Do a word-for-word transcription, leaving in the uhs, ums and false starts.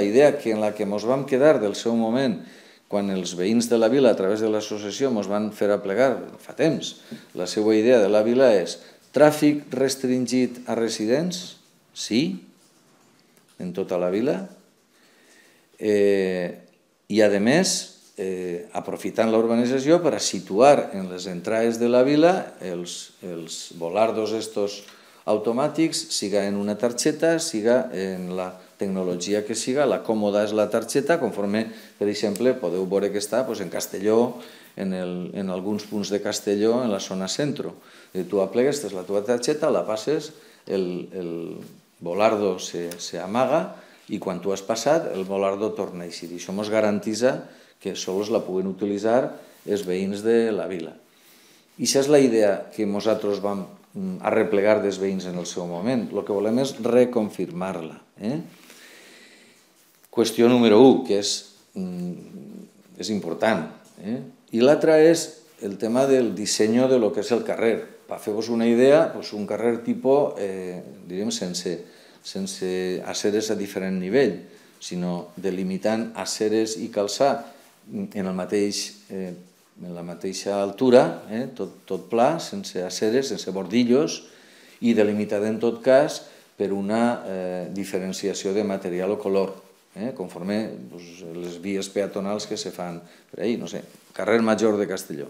La idea que en la que ens vam quedar del seu moment, quan els veïns de la vila, a través de l'associació, ens van fer aplegar, fa temps, la seva idea de la vila és tràfic restringit a residents, sí, en tota la vila, i a més, aprofitant la urbanització per a situar en les entrades de la vila els volardos estos automàtics, siga en una targeta, siga en la tecnologia que siga, la còmoda és la targeta, conforme, per exemple, podeu veure que està en Castelló, en alguns punts de Castelló, en la zona centro. Tu aplegues, tens la teva targeta, la passes, el volardo s'amaga i quan tu has passat, el volardo torna a eixir. I això ens garantitza que sols la puguen utilitzar els veïns de la vila. I això és la idea que nosaltres vam arreplegar dels veïns en el seu moment. El que volem és reconfirmar-la. Qüestió número un, que és important. I l'altra és el tema del disseny de lo que és el carrer. Per fer-vos una idea, un carrer tipus, diríem, sense aceres a diferent nivell, sinó delimitant aceres i calçar en la mateixa altura, tot pla, sense aceres, sense bordillos, i delimitat en tot cas per una diferenciació de material o color, conforme les vies peatonals que se fan per ahí, no sé, carrer Major de Castelló.